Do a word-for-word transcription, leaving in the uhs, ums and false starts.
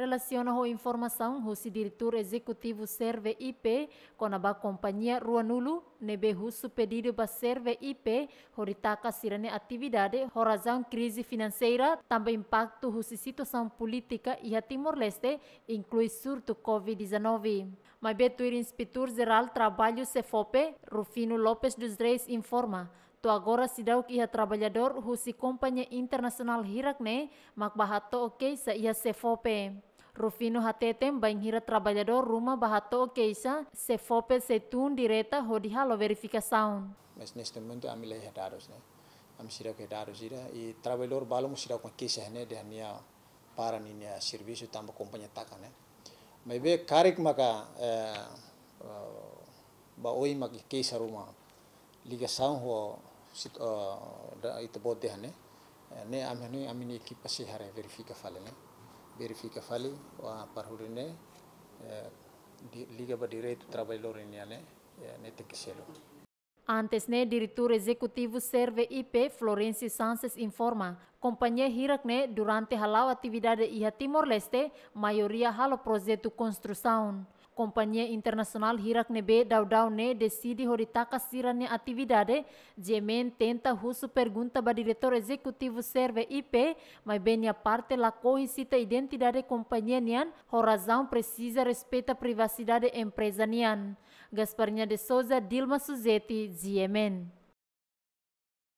Relasiona ho informasaun husi Diretór Ezekutivu Serve I P kona-ba kompañia ruanulu ne'ebé husu pedidu ba Serve I P hodi taka sira-nia atividade ho razaun krize finanseira, tanba impaktu husi situasaun polítika iha Timor-Leste, inklui surtu COVID dezanove. Maibé tuir Inspetór Jerál Traballu SEFOPE, Rufino Lopes dos Reis informa, to'o agora seidauk iha traballadór husi kompañia internasionál hirak-ne'e mak bá hato'o keixa iha SEFOPE. Rufino hateten bainhira traballadór ruma bá hato'o keixa, SEFOPE sei tun direta hodi halo verifikasaun. Mas neste momento ami la iha dadus ne'e. Ami seidauk iha dadus ida, i traballadór balu mós seidauk mai keixa ne'e dehan nia para ninia servisu tanba kompañia taka ne'e. Maibé karik maka, eh, eh, ba oin maka keixa ruma ligasaun ho sit-, eh, da ita-boot dehan ne'e. Eh, ne'e ami, ne'e ami-nia ekipa sei haree verifika fali ne'e. Verifika fali, wa para hodi ne'e, eh, di-, liga ba direitu traballadór nian ne'e, eh, ne'e tenke selu. Antes ne'e, Diretór Ezekutivu Serve I P, Florencio Sanches informa, kompañia hirak-ne'e durante hala'o atividade iha Timor-Leste, maioria halo projetu konstrusaun. Kompañia internasionál hirak ne'ebé daudaun ne'e deside hodi taka sira-nia atividade, GMN tenta husu pergunta ba Diretór Ezekutivu Serve I P, maibé nia parte lakohi sita identidade kompañia nian, ho razaun presiza respeita privasidade empreza nian. Gasparinha de Souza, Dilma Suzeti, GMN.